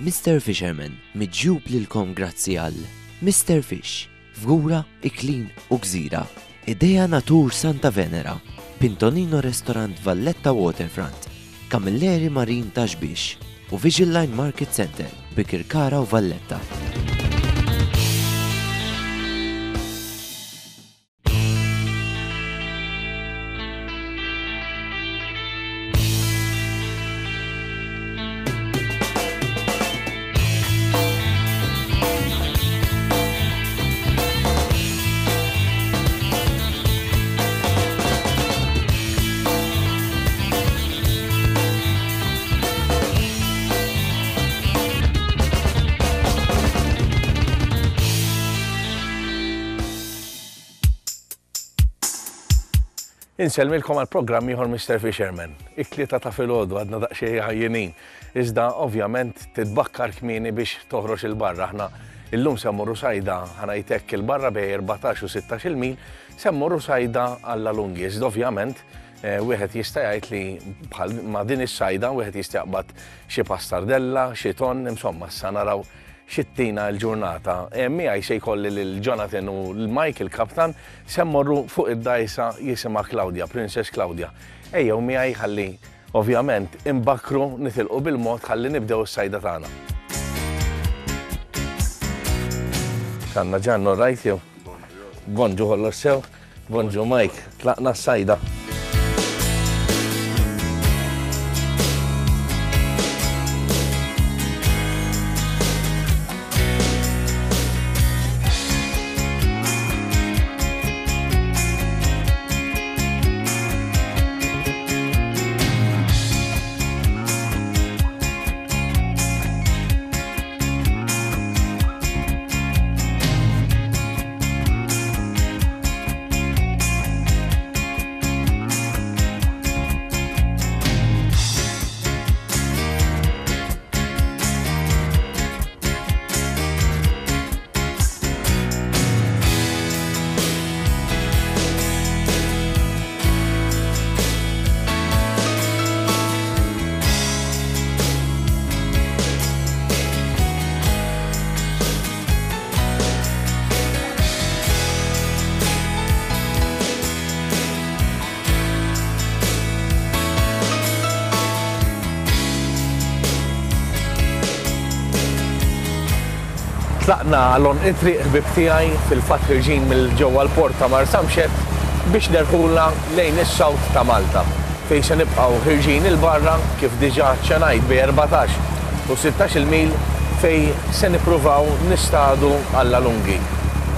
Mister Fisherman miġjub lilkom grazzi għal Mister Fish, Fgura, Iklin u Gżira, Idea Natur Santa Venera, Pintonino Restaurant Valletta Waterfront, Camilleri Marine Ta' Xbiex u Vision Line Market Centre, Bikirkara u Valletta. Insellmilkom għal programm ieħor Mr. Fisherman. It-tlieta ta' filgħodu għadna daqsxejn ħajjinin. Iżda ovvjament titbakkar kmieni biex toħroġ il-barra. Aħna illum se mmorru sajda ħanajtek il-barra bej 14 u 16 il mil, se mmorru sajda għalla lungi. Iżda ovvjament eh, wieħed jista' jgħid li bħal ma' din is-sajda wieħed jista' jaqbad xi pastardella, xi ton, insomma, issa naraw xittina l-ġurnata. E, miegħi se jkolli lil Jonathan u l-Mike il-kaptan se mmorru fuq id-dajsa jisimha Claudia, Princess Claudia. Ejjew miegħi ħalli ovvjament imbakru nitilqu bil-mod ħalli nibdew is-sajda tagħna. Kanna ġannu rajt jew? Bonġu kollox sew. Bonġu Mike, tlaqna s-sajda. Tlaqna għal għonq it-triq ħbieb tiegħi, fil-fatt ħirġin mill ġewwa l-port ta' Marsamxett biex nerħulna lejn is-south ta' Malta fejn se nibqgħu ħirġin 'il barra kif diġà aċċenajt bejn 14 u 16 il mil fejn se nippruvaw nistadu alla lungi.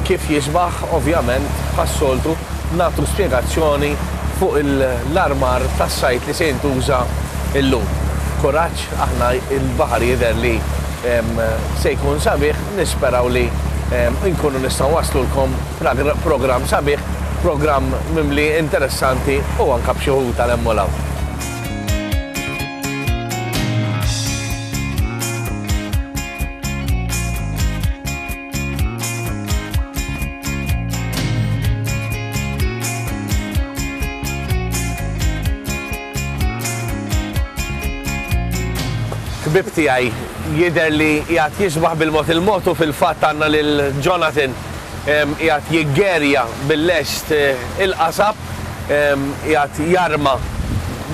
Kif jisbaħ, ovvjament, bħas-soltu, nagħtu spjegazzjoni fuq l-armar tas-sajd li se jintuża llum. Kuraġġ, aħna l-baħar jidher li se jkun sabiħ, nisperaw li nkunu nistgħu nwasslulkom programm sabiħ, programm mimli interessanti u anke b'xi ħut għal hemm u 'l hawn. Ħbieb tiegħi, jidher li qiegħed jisbaħ bil-mod il-mod u fil-fatt għandna lil Jonathan qiegħed jiggerja bil-lest il-qasab. Qiegħed jarma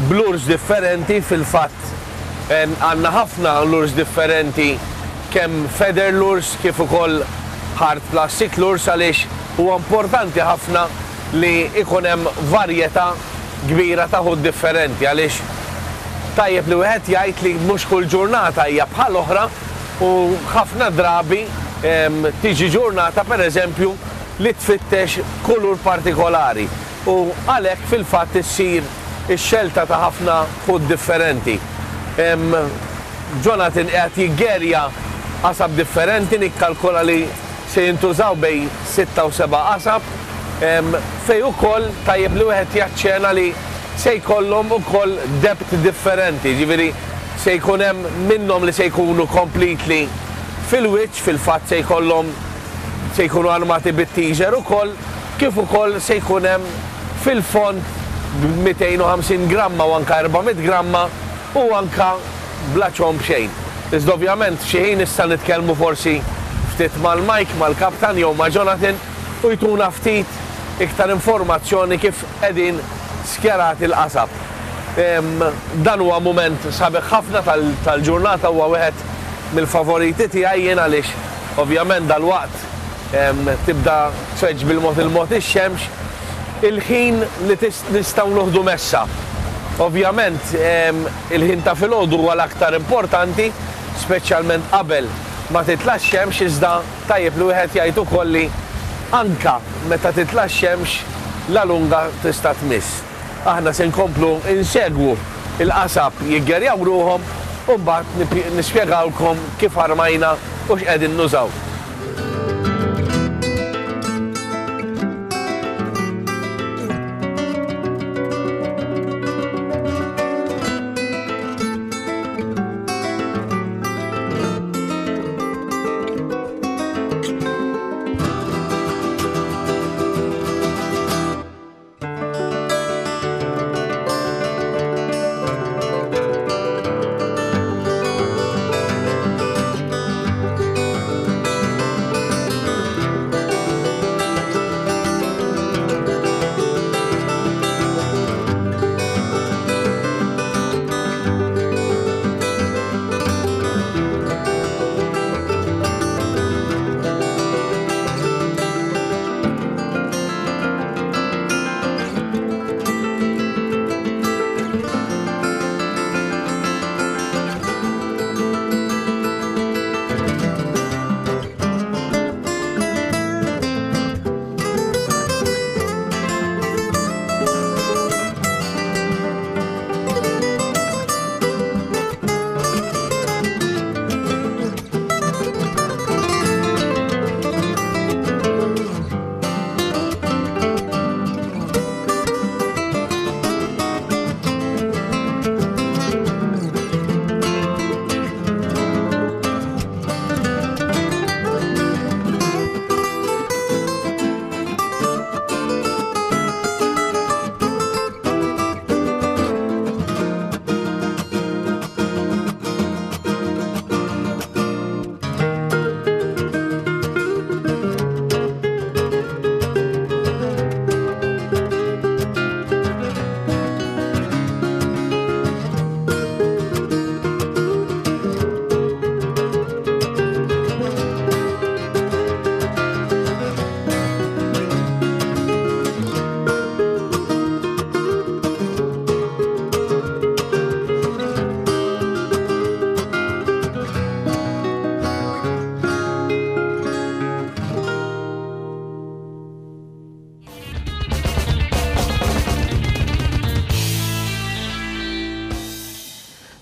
b'lures differenti, fil-fatt għandna ħafna lures differenti kemm feather lures kif ukoll hard plastic lures għaliex huwa importanti ħafna li jkun hemm varjetà kbira ta' ħut differenti għaliex tajjeb li wieħed jgħid li mhux kull ġurnata hija bħal oħra u ħafna drabi tiġi ġurnata pereżempju li tfittex kulur partikolari u għalhekk fil-fatt issir ix-xelta ta' ħafna ħut differenti. Jonathan qiegħed jiggerja qasab differenti, nikkalkola li se jintużaw bejn sitta u seba' qasab, fejn ukoll tajjeb li wieħed jaċċena li se jkollhom ukoll depth differenti, jiġifieri se jkun hemm minnhom li se jkunu completely fil-wiċċ, fil-fatt se jkollhom se jkunu armati bit-teaser ukoll, kif ukoll se jkun hemm fil-fond b'250 gramma u anke 400 gramma u anke bla ċomb xejn. Iżda ovvjament f'xi ħin issa nitkellmu forsi ftit mal-Mike, mal-kaptan jew ma' Jonathan u jtuna ftit iktar informazzjoni kif qegħdin skjerati l-qasab. Dan huwa mument sabiħ ħafna tal-ġurnata, huwa wieħed mill-favoriti tiegħi jien għaliex ovvjament dalwaqt tibda tfeġġ bil-mod il-mod ix-xemx, il-ħin li nistgħu noħdu messa. Ovvjament il-ħin ta' filgħodu huwa l-aktar importanti, speċjalment qabel ma titla' x-xemx iżda tajjeb li wieħed jgħid ukoll li anke meta titla' x-xemx la lunga tista' tmiss. Aħna se nkomplu nsegwu l-qasab jiggerjaw ruħhom u mbagħad nispjegawlkom kif armajna u x'qegħdin nużaw.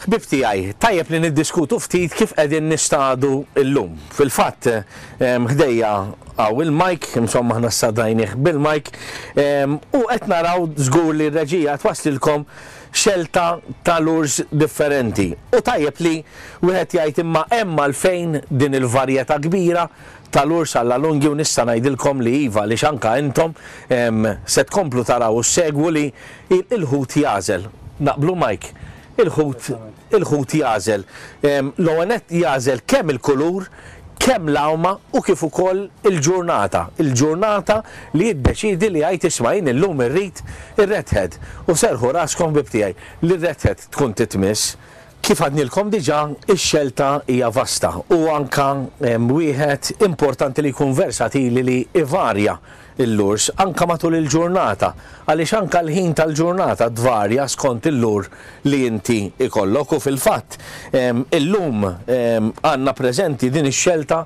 Ħbieb tiegħi, tajjeb li niddiskutu ftit kif qegħdin nistadu llum. Fil-fatt, ħdejja hawn il-mike, insomma aħna ssadajnih bil-mike, u qed naraw żgur li r-reġija twasslilkom xelta ta' lures differenti. U tajjeb li wieħed jgħid imma hemm għalfejn din il-varjetà kbira ta' lures alla lunghi u nista' ngħidilkom li iva għaliex anke intom se tkomplu taraw u ssegwu li il-ħut jagħżel. Naqblu Mike? Il-ħut il-ħut jagħżel. L-ewwel nett jagħżel kemm il-kulur, kemm l-għawma u kif ukoll il-ġurnata. Il-ġurnata li jiddeċiedi li jgħid isma' jien illum irrid ir-redhead. U serrħu raskom ħbieb tiegħi li r-redhead tkun titmiss. Kif għadnilkom diġà, ix-xelta hija vasta u anke wieħed importanti li jkun versatili li ivarja l-lures anke matul il-ġurnata għaliex anke l-ħin tal-ġurnata tvarja skont il-lure li inti jkollok u fil-fatt illum għandna preżenti din ix-xelta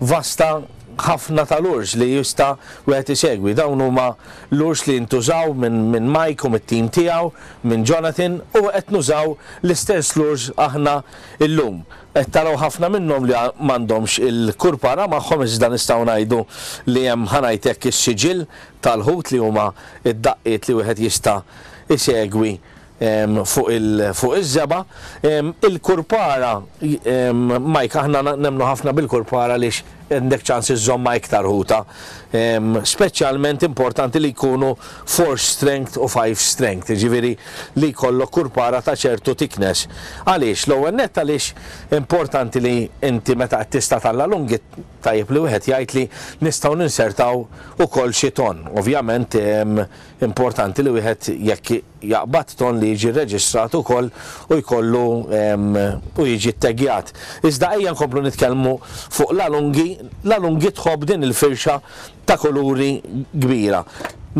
vasta ħafna ta' lures li jista' wieħed isegwi. Dawn huma lures li jintużaw minn Mike u mit-tim tiegħu minn Jonathan u qed nużaw l-istess lures aħna llum. Qed taraw ħafna minnhom li m'għandhomx il-kurpara magħhom iżda nistgħu ngħidu li hemm ħa ngħid hekk is-siġill tal-ħut li huma d-daqqiet li wieħed jista' jsegwi fuq fuq iż-żebgħa. Il-kurpara, Mike aħna nemmnu ħafna bil-kurpara għaliex. għandek ċans iżżommha iktar ħuta. Speċjalment importanti li jkunu 4 strength u 5 strength, jiġifieri li jkollok kurpara ta' ċertu thickness. Għaliex? L-ewwel nett għaliex importanti li inti meta qed tista' talla lunghi tajjeb li wieħed jgħid li nistgħu ninsertaw ukoll xi tonn. Ovvjament importanti li wieħed jekk jaqbad tonn li jiġi rreġistrat ukoll u jkollu u jiġi tteggjat. Iżda ejja nkomplu nitkellmu fuq l-alungi, l-alungi tħobb din il-firxa ta' kuluri kbira.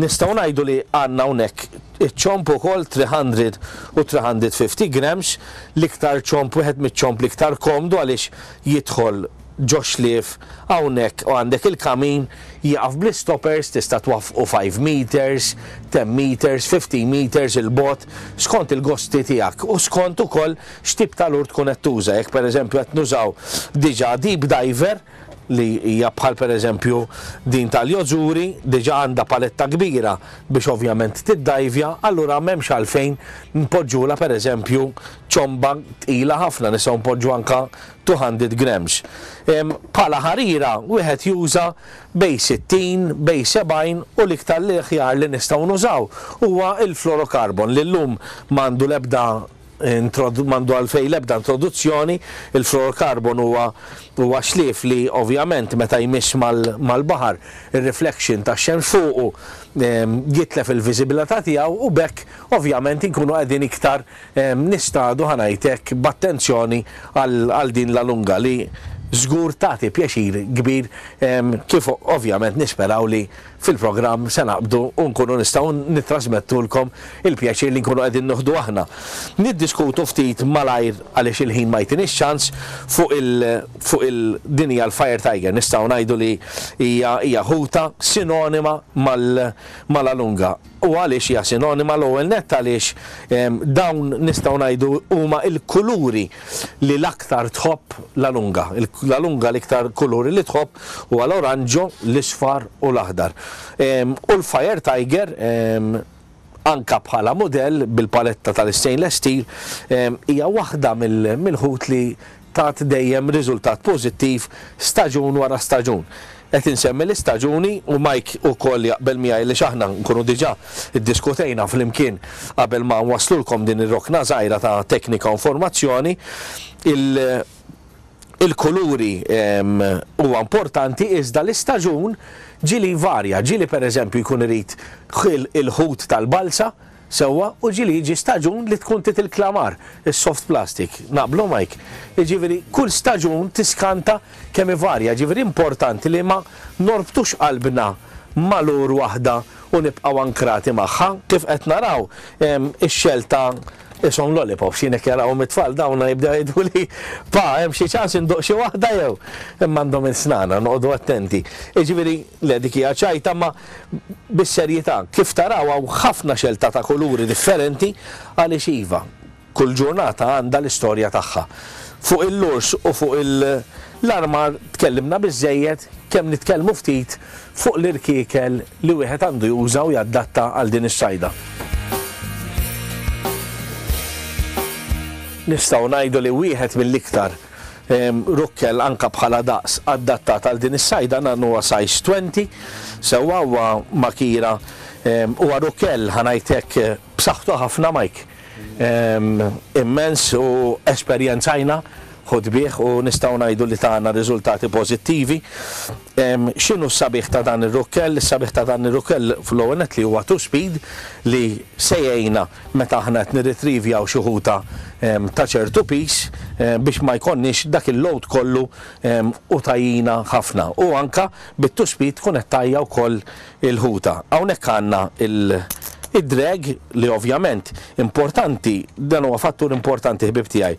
Nistgħu ngħidu li għandna hawnhekk iċ-ċomb ukoll 300 u 350 grams, l-iktar ċomb wieħed miċ-ċomb l-iktar komdu għaliex jidħol ġo xlief hawnhekk u għandek il-kamin jieqaf bl-istoppers tista' twaffqu 5 meters, 10 meters, 15 meters 'il bogħod skont il-gosti tiegħek u skont ukoll x'tip ta' lure tkun qed tuża. Jekk pereżempju qed nużaw diġà deep diver li hija bħal pereżempju din tal-Yozuri diġà għandha paletta kbira biex ovvjament tiddajvja allura m'hemmx għalfejn npoġġulha pereżempju ċomba tqila ħafna nistgħu npoġġu anke 200 grams. Bħala ħarira wieħed juża bejn 60, bejn 70 u l-iktar li aħjar li nistgħu nużaw huwa l-fluorocarbon li llum m'għandu l-ebda m'għandu għalfejn l-ebda introduzzjoni, il-fluorocarbon huwa huwa xlief li ovvjament meta jmiss mal-baħar ir-reflection tax-xemx fuqu jitlef il-viżibilità tiegħu u b'hekk ovvjament inkunu qegħdin iktar Nistadu, ħa ngħid hekk, b'attenzjoni għal din La Lunga li żgur tagħti pjaċir kbir kif ovvjament nisperaw li fil-programm se naqbdu u nkunu nistgħu nittrasmettulkom il-pjaċir li nkunu qegħdin nieħdu aħna. Niddiskutu ftit malajr għaliex il-ħin ma jtinix ċans fuq il fuq il din hija l-Fire Tiger nistgħu ngħidu li hija hija ħuta sinonima mal ma' La Lunga. U għaliex hija sinonima? L-ewwel nett għaliex dawn nistgħu ngħidu huma l-kuluri li l-aktar tħobb La Lunga. La Lunga l-iktar kuluri li tħobb huwa l-oranġo, l-isfar u l-aħdar. U l-Fire Tiger anka bħala mudell bil-paletta tal-istainless steel hija waħda mill-ħut li tat dejjem riżultat pożittiv staġun wara staġun. Qed insemmi l-istaġuni u Mike ukoll jaqbel miegħi għaliex aħna nkunu diġà ddiskutejna flimkien qabel ma nwasslulkom din ir-rokna żgħira ta' teknika u informazzjoni. Il-kuluri huwa importanti iżda l-istaġun ġieli jvarja, ġieli pereżempju jkun irid il-ħut tal-balza, Sewwa, u ġieli jiġi staġun li tkun trid il-klamar, is-soft plastic. Naqblu Mike? Jiġifieri kull staġun tiskanta kemm ivarja, jiġifieri importanti li ma norbtux qalbna ma' lure waħda u nibqgħu ankrati magħha. Kif qed naraw, ix-xelta qishom lollipops, jien hekk jarahom it-tfal dawn jibdew jgħiduli, Pa, hemm xi ċans induq xi waħda jew? Imma għandhom il-snana, noqogħdu attenti. Jiġifieri, le dik hija ċajta imma Bis-serjetà, kif taraw hawn ħafna xelta ta' kuluri differenti għaliex iva, kull ġurnata għandha l-istorja tagħha. Fuq il-lures u fuq l-armar tkellimna biżżejjed, kemm nitkellmu ftit fuq l-irkiekel li wieħed għandu juża u jaddatta għal din is-sajda. Nistgħu ngħidu li wieħed mill-iktar Rukkel anka bħala daqs adattat għal din is-sajda dan huwa size 20 sewwa huwa makira huwa rukkel ħa ngħid hekk b'saħħtu ħafna Mike immens u esperjenzajna ħut bih u nistgħu ngħidu li tana riżultati pożittivi. X'inhu s-sabiħ ta' dan ir-rukkel? Is-sabiħ ta' dan ir-rukkel fl-ewwel nett li huwa two speed li se jgħinna meta aħna qed nirritrivjaw xi ħuta ta' ċertu piż biex ma jkollniex dak il-load kollu u tgħajjina ħafna. U anke bit-two speed tkun qed tgħajja wkoll il-ħuta. Hawnhekk għandna id-drag li ovvjament importanti, dan huwa fattur importanti ħbieb tiegħi,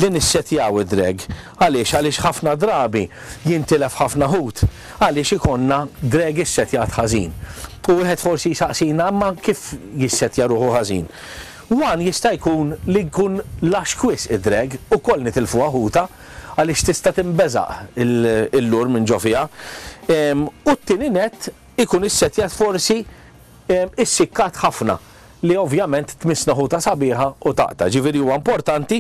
li nissettjaw id-drag. Għaliex? Għaliex ħafna drabi jintilef ħafna ħut għaliex ikollna drag issettjat ħażin. U wieħed forsi jsaqsina imma kif jissettja ruħu ħażin? One jista' jkun li jkun laxk wisq id-drag, ukoll nitilfuha ħuta għaliex tista' tinbeżaq il-lure minn ġo fiha. U t-tieni nett ikun issettjat forsi issikkat ħafna. li ovvjament tmissna ħuta sabiħa u taqta'. Ġifieri huwa importanti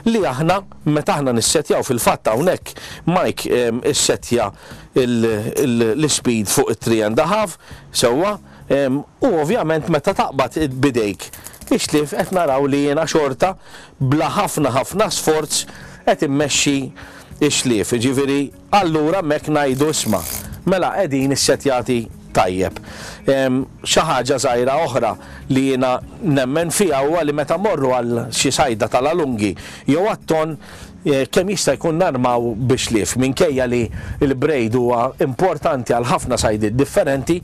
li aħna meta aħna nissettjaw fil-fatt hawnhekk Mike issettja l-ispeed fuq it-three and a half sewwa u ovvjament meta taqbad b'idejk ix-xlief qed naraw li jiena xorta bla ħafna ħafna sforz qed immexxi x-xlief. Jiġifieri Allura hemmhekk ngħidu isma', mela qegħdin issettjati tajjeb. Xi ħaġa żgħira oħra li jiena nemmen fiha huwa li meta mmorru għal xi sajda tal-alungi jew għat-tonn, kemm jista' jkun narmaw bix-xlief. Minkejja li l-braid huwa importanti għal ħafna sajdiet differenti,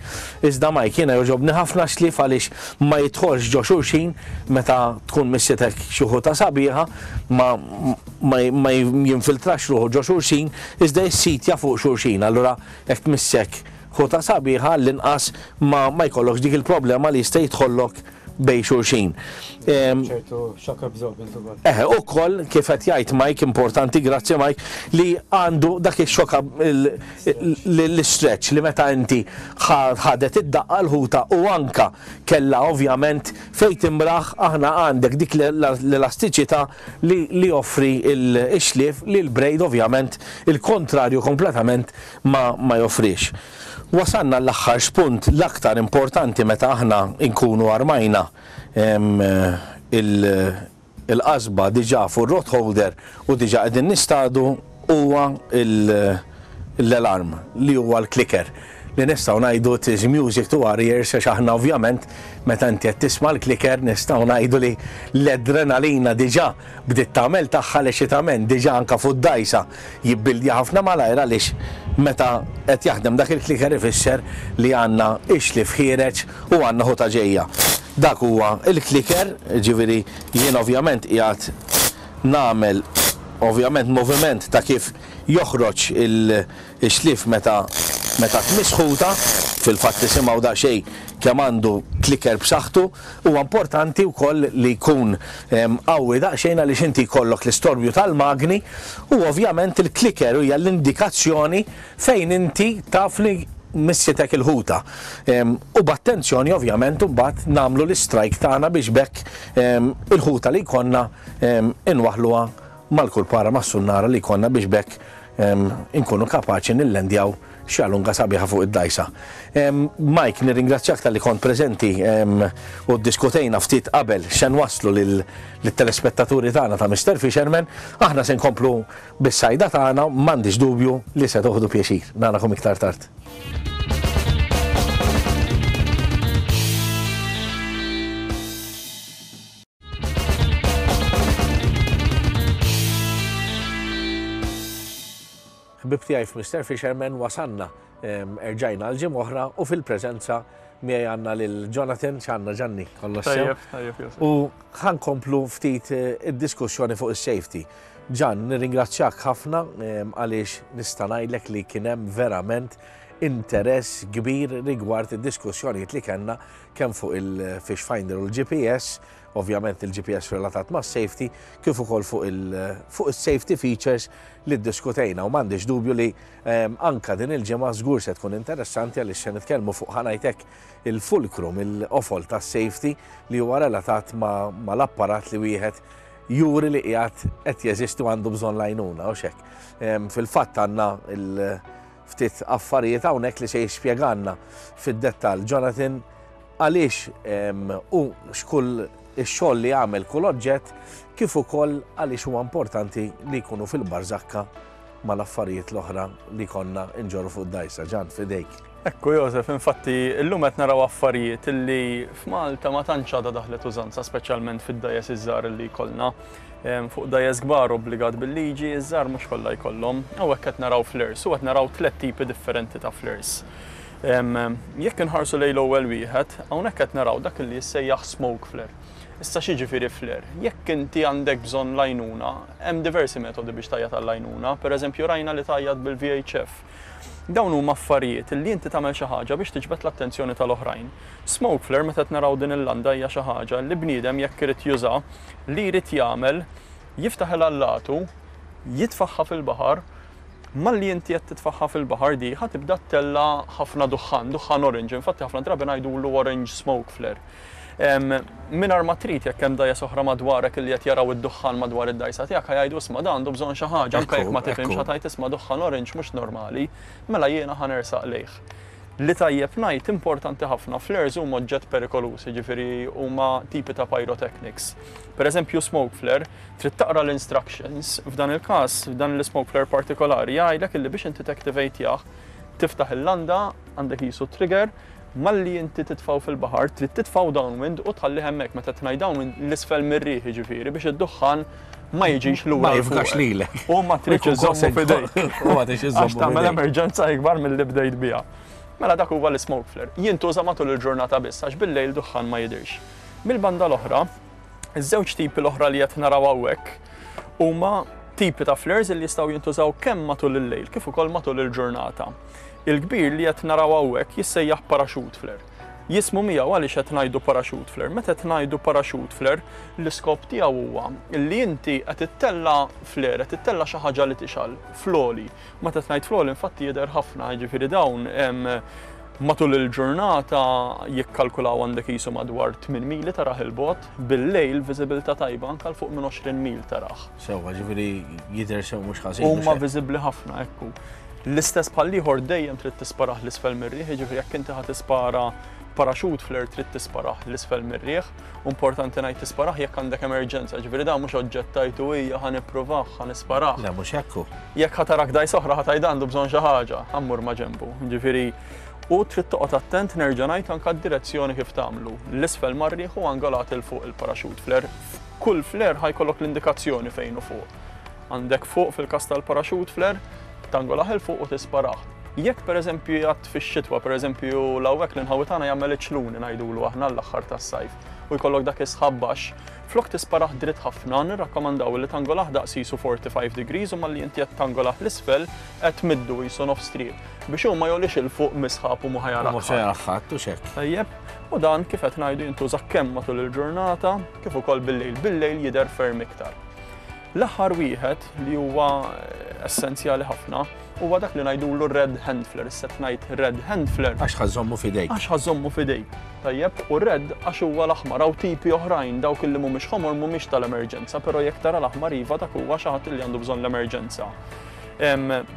iżda Mike jiena jogħġobni ħafna x-xlief għaliex ma jidħolx ġo xulxin meta tkun missitek xi ħuta sabiħa, ma ma jinfiltrax ruħu ġo xulxin iżda jissitja fuq xulxin. Allura jekk tmissek ħuta sabiħa għall-inqas ma ma jkollokx dik il-problema li jista' jidħollok bejn xulxin. Ċertu shock absorbent ukoll. Eħe, ukoll kif qed jgħid Mike, importanti, grazzi Mike, li għandu dak ix-shock l-istretch li meta inti ħadet id-daqqa l-ħuta u anka kellha ovvjament fejn timraħ aħna għandek dik l-elastiċità li li joffri x-xlief li l-braid ovvjament il-kontrarju kompletament ma ma joffrix. Wasalna għall-aħħar spunt l-aktar importanti meta aħna nkunu armajna il-qasba diġà fuq ir-rod holder u diġà qegħdin nistadu huwa l-alarm li huwa l-clicker li nistgħu ngħidu it is music to our ears għax aħna ovvjament meta inti qed tisma' l-clicker nistgħu ngħidu li l-adrenalina diġà bdiet tagħmel tagħha l-eċitament diġà anke fuq id-dgħajsa jibbildja ħafna malajr għaliex meta qed jaħdem dak il-clicker ifisser li għandna ix-xlief ħiereġ u għandna ħuta ġejja. Dak huwa l-clicker, jiġifieri jien ovvjament qiegħed nagħmel ovvjament moviment ta' kif joħroġ ix-xlief meta meta tmiss ħuta, fil-fatt tisimgħu daqsxejn kemm għandu clicker b'saħħtu. Huwa importanti wkoll li jkun qawwi daqsxejn għaliex inti jkollok l-istorbju tal-magni u ovvjament il-clicker hija l-indikazzjoni fejn inti taf li missitek il-ħuta. U b'attenzjoni ovvjament imbagħad nagħmlu l-istrike tagħna biex b'hekk il-ħuta li jkollna inwaħħluha mal-kulpara mas-sunnara li jkollna biex b'hekk inkunu kapaċi nillendjaw xi alunga sabiħa fuq id-dgħajsa. Mike, nirringrazzjak talli kont preżenti u ddiskutejna ftit qabel x'se nwasslu lit-telespettaturi tagħna ta' Mister Fisherman. Aħna se nkomplu bis-sajda tagħna, m'għandix dubju li se toħdu pjaċir. Narakom iktar tard. Ħbieb tiegħi f'Mister Fisherman wasalna erġajna għal ġimgħa oħra u fil-preżenza miegħi għandna lil Jonathan, x'għandna Ġanni, kollox sew. Tajjeb, tajjeb, Josef. U ħa nkomplu ftit id-diskussjoni fuq is-safety. Ġan, nirringrazzjak ħafna għaliex nista' ngħidlek li kien hemm verament interess kbir rigward id-diskussjonijiet li kellna kemm fuq il-fish finder u l-GPS, ovvjament il-GPS relatat mas-safety, kif ukoll fuq il-safety features li ddiskutejna u m'għandix dubju li anka din il-ġimgħa żgur se tkun interessanti għaliex se nitkellmu fuq ħa ngħid hekk il-fulcrum, il-qofol tas-safety li huwa relatat mal-apparat li wieħed juri li qiegħed qed jeżisti u għandu bżonn l-għajnuna u x'hekk. Fil-fatt għandna ftit affarijiet hawnhekk li se jispjegalna fid-dettall Jonathan għaliex u x'kull ix-xogħol li jagħmel kull oġġett kif ukoll għaliex huwa importanti li jkunu fil-barżakka mal-affarijiet l-oħra li konna nġorru fuq id-dgħajsa. Ġan, f'idejk. Ekku Josef, infatti illum qed naraw affarijiet li f'Malta ma tantx għadha daħlet użanza, speċjalment fid-dgħajjes iż-żgħar li jkollna. Fuq dgħajjes kbar obbligat bil-liġi, iż-żgħar mhux kollha jkollhom. Hawnhekk qed naraw flares u qed naraw tlett tipi differenti ta' flares. Jekk inħarsu lejn l-ewwel wieħed, hawnhekk qed naraw dak li jissejjaħ smoke flare. Issa x'jiġifieri flare? Jekk inti għandek bżonn l-għajnuna, hemm diversi metodi biex tgħajjat għall-għajnuna. Pereżempju rajna li tgħajjat bil-VHF. Dawn huma affarijiet li inti tagħmel xi ħaġa biex tiġbed l-attenzjoni tal-oħrajn. Smoke flare meta qed naraw din il-landa hija xi ħaġa li bniedem jekk irid juża, li jrid jagħmel, jiftaħ il-allatu, jitfagħha fil-baħar, malli inti qed titfagħha fil-baħar di ħa tibda ttella' ħafna duħħan, duħħan orange, infatti ħafna drabi ngħidulu orange smoke flare. Mingħajr ma trid jekk hemm dgħajjes oħra madwarek li qed jaraw id-duħħan madwar id-dgħajsa tiegħek ħa jgħidu isma' dan għandu bżonn xi ħaġa, anke jekk ma tifhimx ħa tgħid isma' duħħan orange mhux normali, mela jiena ħa nersaq lejh. Li tajjeb ngħid importanti ħafna, flares huma oġġett perikoluż, jiġifieri huma tipi ta' pyrotechnics. Per eżempju smoke flare, trid taqra l-instructions, f'dan il-każ, f'dan l-smoke flare partikolari jgħidlek illi biex inti tactivate-jah, tiftaħ il-landa, għandek qisu trigger, Malli inti titfgħu fil-baħar, trid titfgħu downwind u tħallih hemmhekk. Meta qed ngħid downwind, 'l isfel mir-riħ jiġifieri biex id-duħħan ma jiġix lura. Ma jifgax lilek. U ma tridx iżommu f'idejk. U ma tridx iżommu. Għax tagħmel emerġenza ikbar milli bdejt biha. Mela dak huwa l-smoke flare. Jintuża matul il-ġurnata biss għax bil-lejl duħħan ma jidhirx. Mill-banda l-oħra, iż-żewġ tipi l-oħra li qed naraw hawnhekk huma tipi ta' flares li jistgħu jintużaw kemm matul il-lejl kif ukoll matul il-ġurnata. Il-kbir li qed naraw hawnhekk jissejjaħ parachute flare. Jismu miegħu għaliex qed ngħidu parachute flare. Meta qed ngħidu parachute flare, l-iskop tiegħu huwa li inti qed ittella' flare, qed ittella' xi ħaġa li tixgħal fl-għoli. Meta qed ngħid fl-għoli infatti jidher ħafna, jiġifieri dawn matul il-ġurnata jikkalkulaw għandek qisu madwar 8 mili tarah 'il bogħod, bil-lejl viżibilità tajba anke 'l fuq minn 20 mil tarah. Sewwa, ġifieri jidher sew mhux ħażin. Huma viżibbli ħafna, ekku. L-istess bħall-ieħor dejjem trid tisparah 'l isfel mir-riħ, jiġifieri jekk inti ħa tispara parachute flare trid tisparah 'l isfel mir-riħ. U importanti ngħid tisparah jekk għandek emerġenza, jiġifieri dan mhux oġġett tgħid u hija ħa nippruvah, ħa nisparah. Le mhux hekk hu. Jekk ħa tarak dgħajsa oħra ħa tgħid għandu bżonn xi ħaġa, ħa mmur ma' ġenbu. Jiġifieri u trid toqgħod attent nerġa' ngħid anke d-direzzjoni kif tagħmlu. 'L isfel mar-riħ u angolat 'il fuq il-parachute flare. F'kull flare ħa jkollok l-indikazzjoni fejn hu fuq. Għandek fuq fil-każ tal-parachute flare, tangolah 'il fuq u tisparah. Jekk pereżempju jgħadd fix-xitwa, pereżempju 'l hawnhekk l-inħawi tagħna jagħmel iċ-ċluni ngħidulu aħna l-aħħar tas-sajf u jkollok dak is-sħab baxx, flok tisparah dritt ħafna, nirrakkomandaw li tangolah daqs qisu 45 degrees u malli inti qed tangolah 'l isfel qed tmiddu qisu nofs triq biex hu ma jogħlix 'il fuq mis-sħab u mhu ħa jarah ħadd. U mhu se jarah ħadd, hux hekk. Tajjeb, u dan kif qed ngħidu jintuża kemm matul il-ġurnata kif ukoll bil-lejl. Bil-lejl jidher ferm iktar. L-aħħar wieħed li huwa essenzjali ħafna huwa dak li ngħidulu red hand flare. Issa qed ngħid red hand flare. Għax ħa żżommu f'idejk. Għax ħa żżommu f'idejk. Tajjeb, u red għax huwa l-aħmar hawn tipi oħrajn dawk li mhumiex ħomor mhumiex tal-emerġenza, però jekk tara l-aħmar iva dak huwa xi ħadd li għandu bżonn l-emerġenza.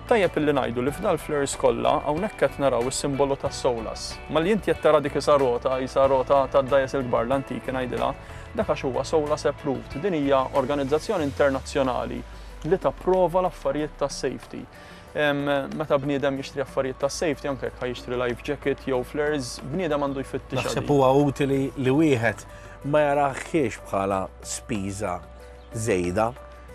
Tajjeb illi ngħidu li f'dal-flares kollha hawnhekk qed naraw is-simbolu tas-SOLAS. Malli inti qed tara dik isa rota, isa rota tad-dgħajjes il-kbar l-antiki ngħidilha, Dak għax huwa SOLAS approved. Din hija organizzazzjoni internazzjonali li tapprova l-affarijiet tas-safety. Meta bniedem jixtri affarijiet tas-safety, anke jekk ħa jixtri life jacket jew flares, bniedem għandu jfittixha. Naħseb huwa utili li wieħed ma jarahiex bħala spiża żejda,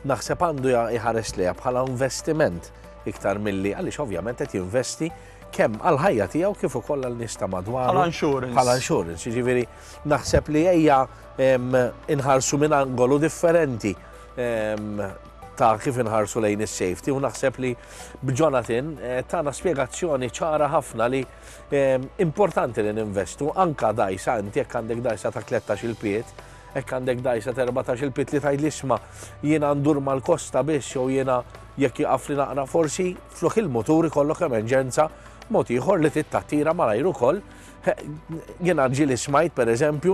naħseb għandu jħares lejha bħala investiment iktar milli għaliex ovvjament qed jinvesti kemm għall-ħajja tiegħu kif ukoll għal nies ta' madwaru. Bħala insurance. Bħala insurance, jiġifieri Naħseb li ejja inħarsu minn angolu differenti ta' kif inħarsu lejn is-safety u naħseb li b'Jonathan eh, tana spjegazzjoni ċara ħafna li importanti li ninvestu anka dajsa inti jekk għandek dajsa ta' 13 il-piet, jekk għandek dajsa ta' 14 il-piet li tgħid li isma' jiena ndur mal-kosta biss jew jiena jekk jaqaf li naqra forsi flok il-mutur ikollok emerġenza mod ieħor li tittattira malajr ukoll Jiena ġieli smajt pereżempju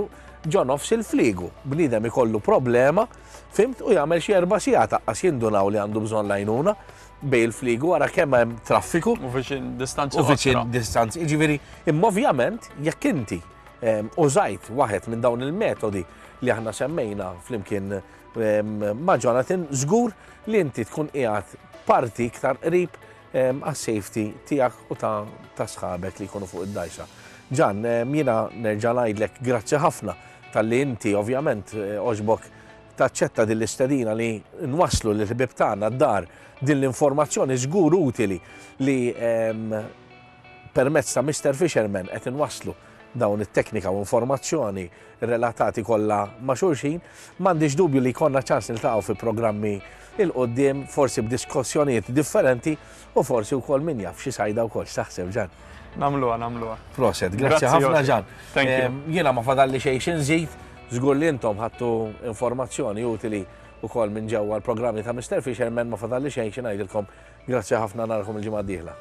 ġo nofs il-fliegu, bniedem ikollu problema, fimt, u jagħmel xi erba' sigħat aqqas jindunaw li għandu bżonn l-għajnuna bejn il-fliegu ara kemm hemm traffiku. U viċin distanzi. U viċin distanzi. Jiġifieri, imma ovvjament jekk inti ehm, użajt waħed minn dawn il-metodi li aħna semmejna flimkien ehm, ma' Jonathan, żgur li inti tkun qiegħed parti iktar qrib għas-safety tiegħek u ta' sħabek li jkunu fuq id-dgħajsa. Ġan, jiena nerġa' ngħidlek grazzi ħafna talli inti ovvjament għoġbok taċċetta din l-istedina li nwasslu lill-ħbieb tagħna d-dar din l-informazzjoni żgur utili li permezz ta' Mister Fisherman qed inwasslu dawn it-teknika u informazzjoni relatati kollha ma' xulxin. M'għandix dubju li jkollna ċans niltaqgħu fi programmi 'il quddiem, forsi b'diskussjonijiet differenti u forsi wkoll min jaf xi sajda wkoll. X'taħseb Ġan? Nagħmluha, nagħmluha. Proset, grazzi ħafna Ġan. Jiena ma fadalli xejn xi nżid, żgur li intom ħadtu informazzjoni utili wkoll minn ġewwa l-programmi ta' Mister Fisherman, ma fadalli xejn xi ngħidilkom Grazzi ħafna narakom il-ġimgħa d-dieħla.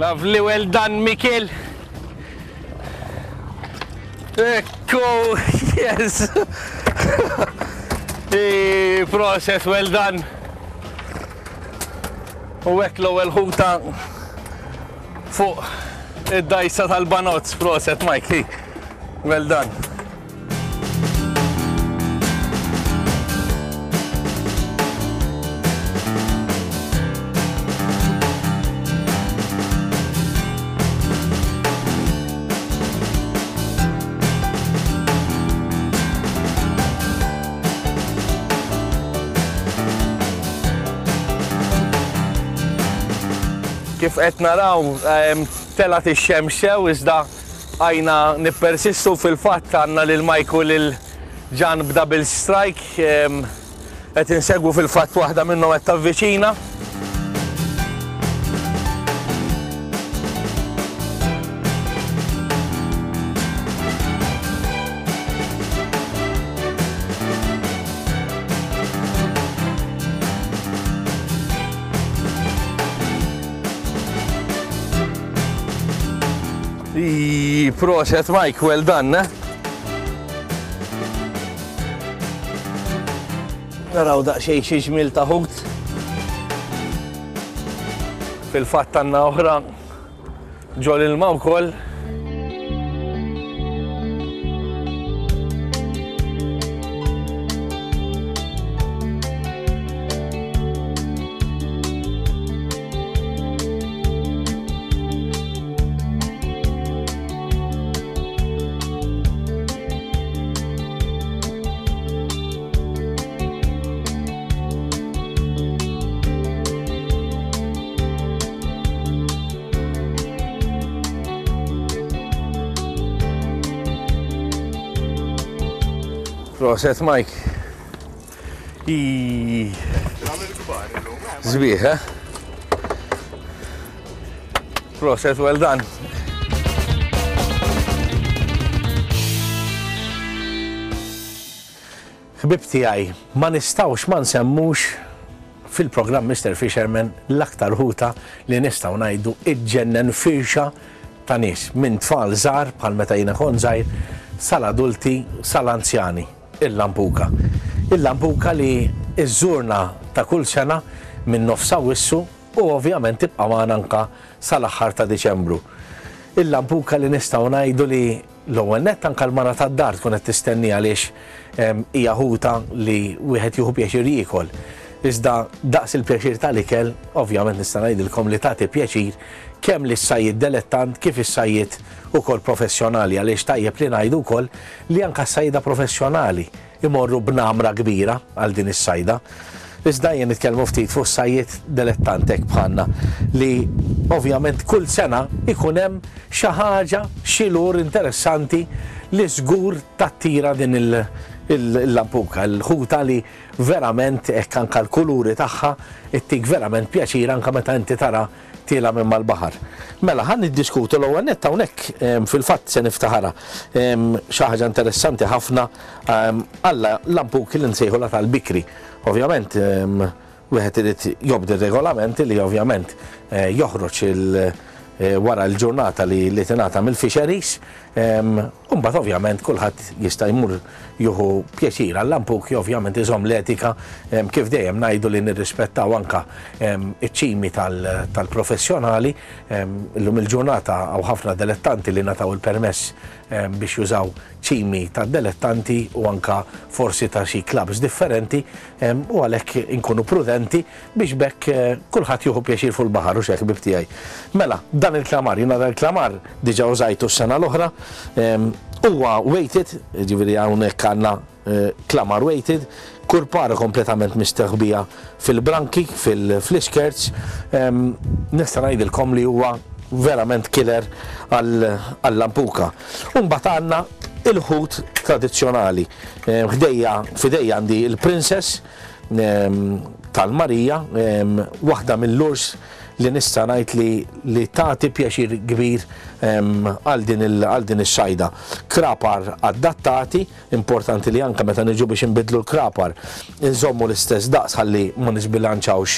Lovely, well done, Mikel. Ekku, yes. Proset, well done. U hekk l-ewwel ħuta fuq id-dajsa tal-banozz, proset Mike. Well done. Kif qed naraw ehm, telgħet ix-xemx sew iżda Bqajna nippersistu fil-fatt għandna lil Mike u lil Ġan b'double strike qed insegwu fil-fatt waħda minnhom qed tavviċina. Ii, proset Mike, well done, eh? Naraw daqsxejn xi ġmiel ta' ħut. Fil-fatt għandna oħra ġol ilma wkoll. Proset Mike. Zbieħ, eh? Proset, well done. Ħbieb tiegħi, ma nistgħux ma nsemmux fil-programm Mister Fisherman l-aktar ħuta li nistgħu ngħidu iġġennen firxa ta' nies, minn tfal żgħar bħal meta jiena kont żgħir, sal-adulti, sal-anzjani. Il-lampuka. Il-lampuka li żżurna ta' kull sena minn nofs Awwissu u ovvjament tibqa' magħna anke sal-aħħar ta' Diċembru. Il-lampuka li nistgħu ngħidu li l-ewwel nett anke l-mara tad-dar tkun qed tistenniha għaliex hija ħuta li wieħed jieħu pjaċir jiekol. Iżda daqs il-pjaċir tal-ikel, ovvjament nista' ngħidilkom li tagħti pjaċir kemm lis-sajjied delettant kif is-sajjied ukoll professjonali għaliex tajjeb li ngħidu wkoll li anke s-sajjieda professjonali imorru b'namra kbira għal din is-sajda. Iżda ejja nitkellmu ftit fuq is-sajjied delettant hekk bħalna li ovvjament kull sena jkun hemm xi ħaġa, xi lure interessanti li żgur tattira din il-lampuka, il-ħuta li verament hekk anke l-kuluri tagħha ttik verament pjaċir anke meta inti tara tiela' minn mal-baħar. Mela, ħa niddiskutu l-ewwel nett hawnhekk fil-fatt se niftaħarha xi ħaġa interessanti ħafna għal lampuki li nsejħulha tal-bikri. Ovvjament wieħed irid jobdi r-regolamenti li ovvjament joħroġ wara l-ġurnata li tingħata mill-fisheries U mbagħad ovvjament kulħadd jista' jmur jieħu pjaċir għal-lampuki ovvjament iżomm l-etika kif dejjem ngħidu li nirrispettaw anka iċ-ċimi tal-professjonali. Illum il-ġurnata hawn ħafna delettanti li ngħataw il-permess biex jużaw ċimi tad-delettanti u anka forsi ta' xi clubs differenti u għalhekk inkunu prudenti Biex b'hekk kulħadd jieħu pjaċir fuq il-baħar, hux hekk ħbieb tiegħi? Mela, dan il-klamar, jiena dan il-klamar diġà użajtu s-sena l-oħra, huwa weighted, jiġifieri hawnhekk għandna klamar weighted, kurpara kompletament mistaħbija fil-branki, fl-iskirts, nista' ngħidilkom li huwa verament killer għal-lampuka. U mbagħad għandna il-ħut tradizzjonali. Ħdejja, f'idejja għandi il-princess, tal-Marija, waħda mill-lures li nista' ngħid li li tagħti pjaċir kbir għal din għal din is-sajda. Krapar adattati, importanti li anke meta niġu biex inbiddlu l-krapar inżommu l-istess daqs ħalli ma nisbilanċawx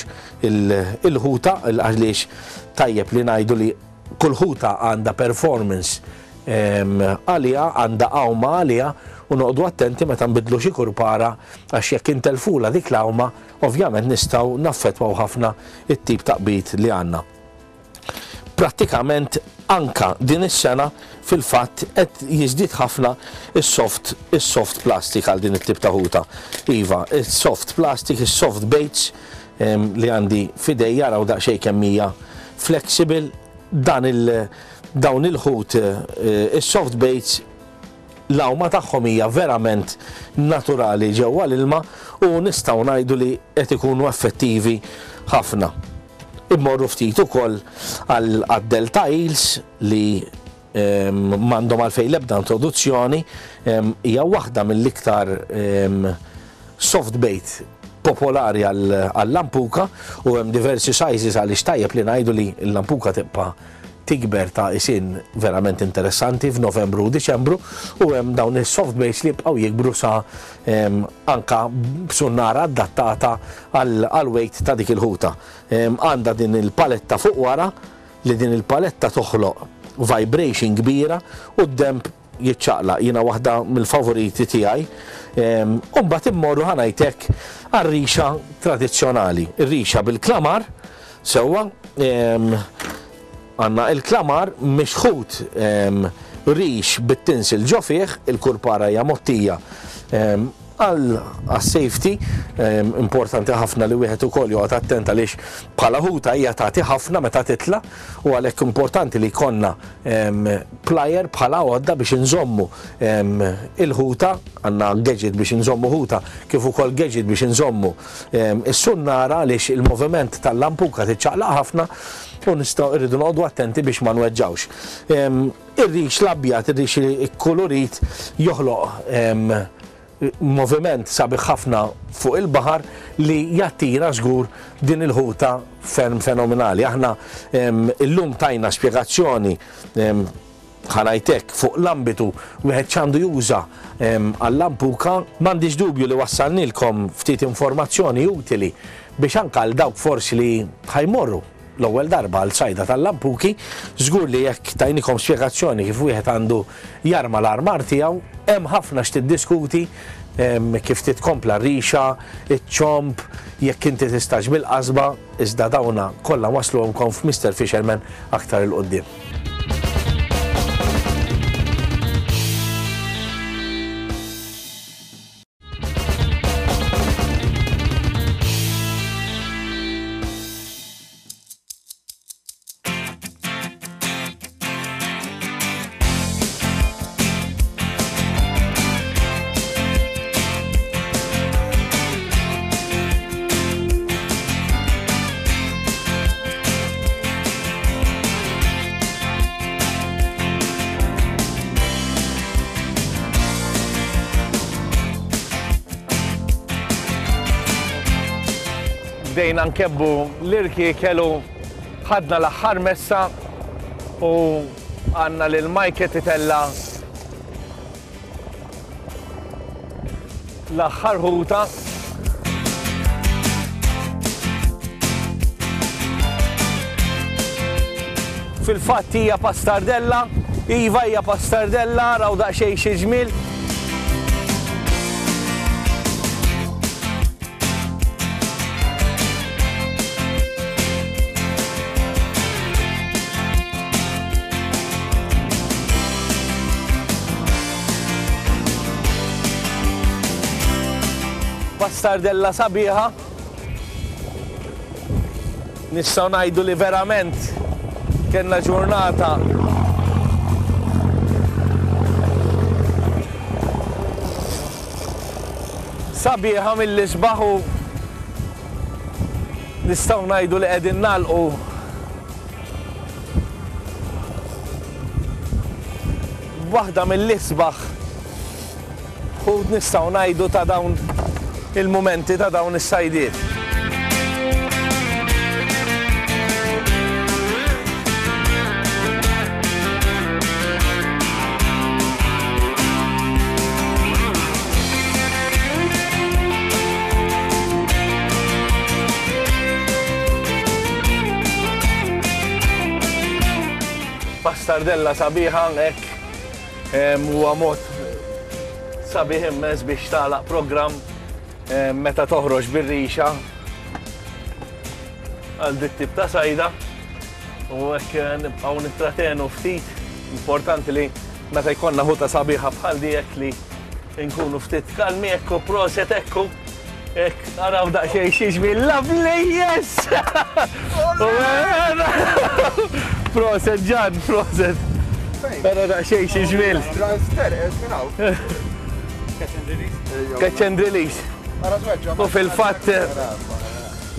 il-ħuta għaliex tajjeb li ngħidu li. Kull ħuta għandha performance għaliha, għandha għawma għaliha u noqogħdu attenti meta nbiddlu xi kurpara għax jekk intellfulha dik l-għawma ovvjament nistgħu naffettwaw ħafna t-tip ta' qbid li għandna. Prattikament anka din is-sena fil-fatt qed jiżdied ħafna is-soft is-soft plastic għal din it-tip ta' ħuta. Iva, is-soft plastic, is-soft baits li għandi f'idejja araw daqsxejn kemm hija flexible dan il dawn il-ħut is-soft baits l-għawma tagħhom hija verament naturali ġewwa l-ilma u nistgħu ngħidu li qed ikunu effettivi ħafna. Immorru ftit ukoll għad-Delta Eels li M'għandhom għalfejn l-ebda introduzzjoni, hija waħda mill-iktar soft bait popolari għall-lampuka u hemm diversi sizes għaliex tajjeb li ngħidu li l-lampuka tibqa' tikber ta' isin verament interessanti f'Novembru u Diċembru u hemm dawn is-soft baits li jibqgħu jikbru sa anka b'sunnara adattata għall-weight ta' dik il-ħuta. Għandha din il-paletta fuq wara li din il-paletta toħloq vibration kbira u d-denb jiċċaqlaq. Jiena waħda mill-favoriti tiegħi. U mbagħad immorru ħa ngħid hekk għar-rixa tradizzjonali. Ir-rixa bil-klamar, sewwa, għandna il-klamar mixħut rix bit-tinsil ġo fih, il-kurpara hija mgħottija Għas-safety, importanti ħafna li wieħed ukoll joqgħod attent għaliex bħala ħuta hija tagħti ħafna meta titla' u għalhekk importanti li jkollna plier bħala għodda biex inżommu il-ħuta, għandna gadget biex inżommu ħuta kif ukoll gadget biex inżommu is-sunnara għaliex il-moviment tal-lampuka tiċċaqlaq ħafna u nistgħu rridu noqogħdu attenti biex ma nweġġgħux. Ir-rix l-abjad, ir-rix ikkulurit joħloq moviment sabiħ ħafna fuq il-baħar li jattira żgur din il-ħuta ferm fenomenali. Aħna illum tajna spjegazzjoni ħa ngħid hekk fuq l-ambitu wieħed x'għandu juża għal-lampuka. M'għandix dubju li wassalnilkom ftit informazzjoni utili biex anke għal dawk forsi li ħa jmorru l-ewwel darba għal sajda tal-lampuki, żgur li jekk tajnikom spjegazzjoni kif wieħed għandu jarma l-armar tiegħu, hemm ħafna x'tiddiskuti, kif titkompla r-rixa, iċ-ċomb, jekk inti tistax bil-qasba, iżda dawna kollha nwassluhomkom f'Mister Fisherman aktar 'il quddiem. Bdejna nkebbu l-irkiekel u ħadna l-aħħar messa u għandna lil Mike qed itella' l-aħħar ħuta. Fil-fatt hija pastardella, iva hija pastardella, raw daqsxejn xi ġmiel. Bastardella sabiħa. Nistgħu ngħidu li verament kellna ġurnata sabiħa mill-isbaħ u nistgħu ngħidu li qegħdin nagħlqu Waħda mill-isbaħ ħut nistgħu ngħidu ta' dawn il-mumenti ta' dawn is-sajdiet. Pastardella sabiħa hekk huwa mod sabiħ immens biex tagħlaq programm meta toħroġ bir-rixa għal dit tip ta' sajda u hekk eh, nibqgħu nittratenu ftit. Importanti li meta jkollna ħuta sabiħa bħal di hekk li nkunu ftit kalmi ekku proset ekku. Hekk araw daqsxejn xi ġmiel lovely yes! Proset Ġan, proset. Ara daqsxejn xi ġmiel. Catch and release. U fil-fatt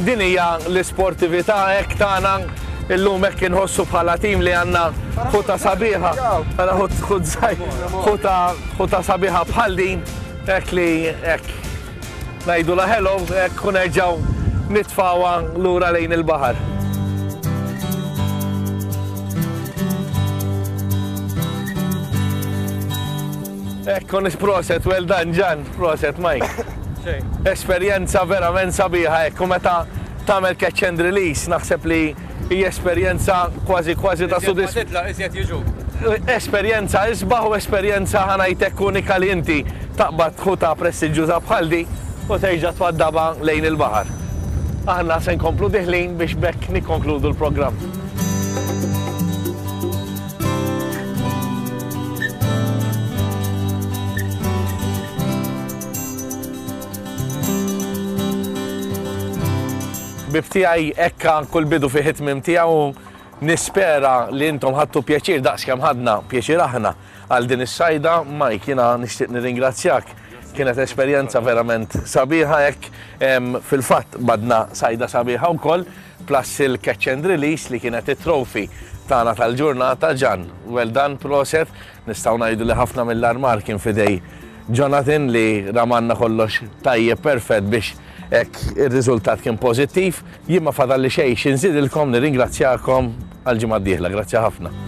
din hija l-isportività hekk tagħna illum hekk inħossu bħala tim li għandna ħuta sabiħa. Ara ħut ħuta sabiħa bħal din hekk li hekk Ngħidulha hello hekk u nerġgħu nitfgħuha lura lejn il-baħar. Ekku nis proset, well done Ġan, proset Mike. Esperjenza verament sabiħa ekku meta tagħmel catch and release naħseb li hija esperjenza kważi kważi ta' sodisfazzjon. Iżjed jiġu. Esperjenza isbaħ u esperjenza ħa ngħid hekk unika li inti taqbad ħuta prestiġjuża bħal di u terġa' twaddabha lejn il-baħar. Aħna se nkomplu diħlin biex b'hekk nikkonkludu l-programm. Ħbieb tiegħi hekk kull bidu fih it-tmiem tiegħu Nispera li intom ħadtu pjaċir daqs kemm ħadna pjaċir aħna għal din is-sajda. Mike, jiena nixtieq nirringrazzjak. Kienet esperjenza verament sabiħa hekk. Fil-fatt badna sajda sabiħa wkoll, plus il-catch and release li kienet it-trophy tagħna tal-ġurnata. Ġan, well done, proset. Nistgħu ngħidu li ħafna mill-armar kien f'idej Jonathan li ramanna kollox tajjeb perfett biex hekk ir-riżultat kien pożittiv. Jien ma fadalli xejn xi nżidilkom, nirringrazzjakom għal ġimgħa d-dieħla. Grazzi ħafna.